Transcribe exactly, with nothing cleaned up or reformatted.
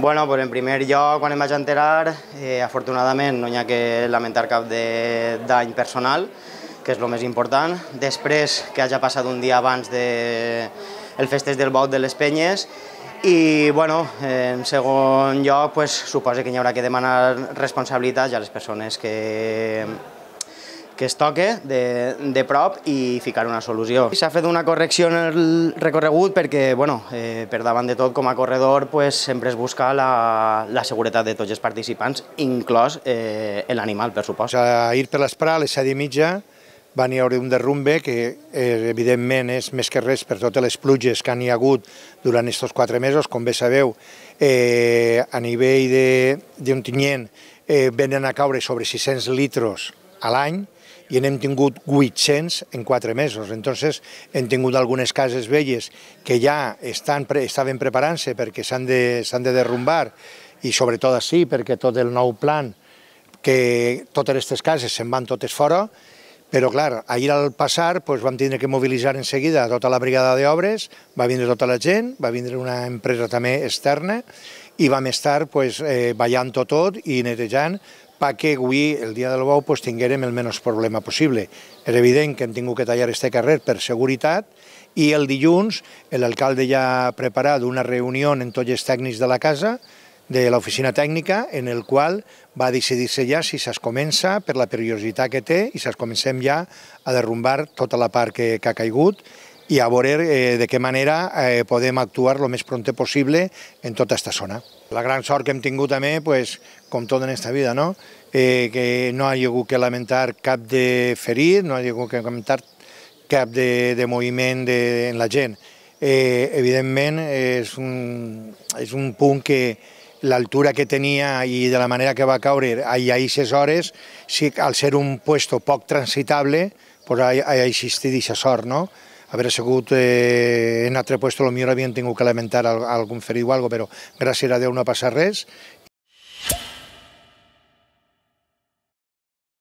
Bueno, pues en primer lloc, quan em vaig enterar, eh, afortunadament no hi ha que lamentar cap de dany personal, que és el més important. Després, que hagi passat un dia abans del de festeig del bou de les penyes. I, bueno, en segon lloc, pues, suposo que hi haurà que demanar responsabilitats a les persones que, que es toque de, de prop i ficar una solució. S'ha fet una correcció en el recorregut perquè, bueno, eh, per davant de tot, com a corredor, pues, sempre es busca la, la seguretat de tots els participants, inclòs eh, l'animal, per supost. Ahir per l'esprà, a les set i mitja, va n'hi haver un derrumbe que, eh, evidentment, és més que res per totes les pluges que han hi hagut durant aquests quatre mesos. Com bé sabeu, eh, a nivell d'Ontinyent eh, venen a caure sobre sis-cents litros a l'any i n'hem tingut vuit-cents en quatre mesos. Entonces, hem tingut algunes cases velles que ja estan, estaven preparant-se perquè s'han de, s'han de derrumbar i sobretot així perquè tot el nou plan, que totes aquestes cases se'n van totes fora. Però, clar, ahir al passar doncs, vam tindre que mobilitzar en seguida tota la brigada d'obres, va vindre tota la gent, va vindre una empresa també externa i vam estar doncs, eh, ballant-ho tot i netejant perquè avui, el dia del bou, doncs, tinguérem el menys problema possible. És evident que hem tingut que tallar este carrer per seguretat i el dilluns l'alcalde ja ha preparat una reunió amb tots els tècnics de la casa, de l'oficina tècnica, en el qual va decidir-se ja si es comença per la perillositat que té i si es comencem ja a derrumbar tota la part que, que ha caigut i a veure eh, de què manera eh, podem actuar el més pront possible en tota aquesta zona. La gran sort que hem tingut també, pues, com tot en aquesta vida, no? Eh, que no hi ha hagut que lamentar cap de ferit, no hi ha hagut que lamentar cap de, de moviment de, en la gent. Eh, evidentment, és un, és un punt que l'altura que tenia i de la manera que va caure a aquestes hores, sí, al ser un puesto poc transitable, pues ha, ha existit aquesta sort, no? Haver sigut eh, en altre puesto, potser havien tingut que lamentar algun ferit o alguna cosa, però gràcies a Déu no ha passat res